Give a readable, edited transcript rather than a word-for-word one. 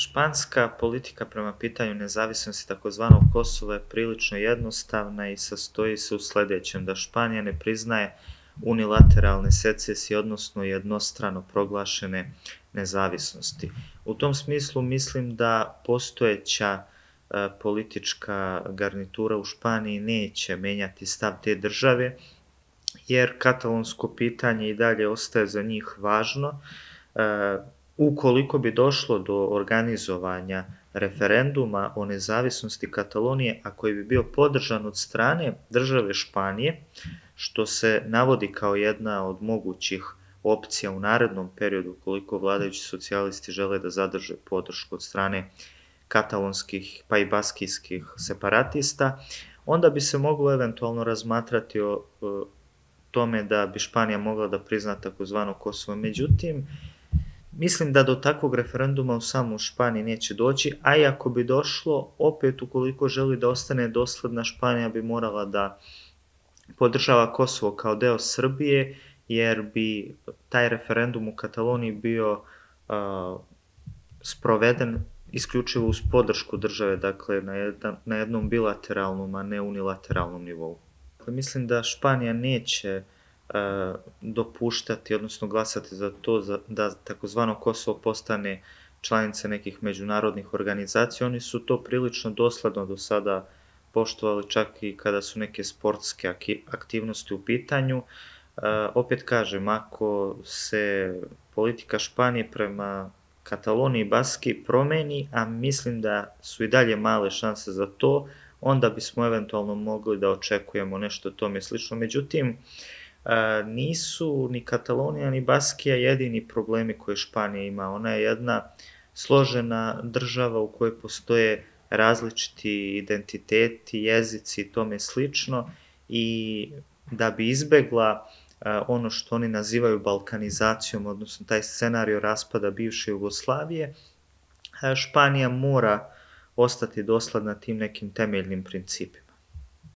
Španska politika prema pitanju nezavisnosti takozvanog Kosova je prilično jednostavna i sastoji se u sljedećem, da Španija ne priznaje unilateralne secesije, odnosno jednostrano proglašene nezavisnosti. U tom smislu mislim da postojeća politička garnitura u Španiji neće menjati stav te države, jer katalonsko pitanje i dalje ostaje za njih važno. Ukoliko bi došlo do organizovanja referenduma o nezavisnosti Katalonije, a koji bi bio podržan od strane države Španije, što se navodi kao jedna od mogućih opcija u narednom periodu, ukoliko vladajući socijalisti žele da zadrže podršku od strane katalonskih pa i baskijskih separatista, onda bi se moglo eventualno razmatrati o tome da bi Španija mogla da prizna takozvano Kosovo. Međutim, mislim da do takvog referenduma u samom Španiji neće doći, a i ako bi došlo, opet ukoliko želi da ostane dosledna, Španija bi morala da podržava Kosovo kao deo Srbije, jer bi taj referendum u Kataloniji bio sproveden isključivo uz podršku države, dakle na jednom bilateralnom, a ne unilateralnom nivou. Mislim da Španija neće dopuštati, odnosno glasati za to da takozvano Kosovo postane članica nekih međunarodnih organizacija. Oni su to prilično dosledno do sada poštovali, čak i kada su neke sportske aktivnosti u pitanju. Opet kažem, ako se politika Španije prema Kataloniji i Baskiji promeni, a mislim da su i dalje male šanse za to, onda bismo eventualno mogli da očekujemo nešto tome slično. Međutim, nisu ni Katalonija ni Baskija jedini problemi koje Španija ima. Ona je jedna složena država u kojoj postoje različiti identiteti, jezici i tome slično, i da bi izbegla ono što oni nazivaju balkanizacijom, odnosno taj scenario raspada bivše Jugoslavije, Španija mora ostati dosledna tim nekim temeljnim principima.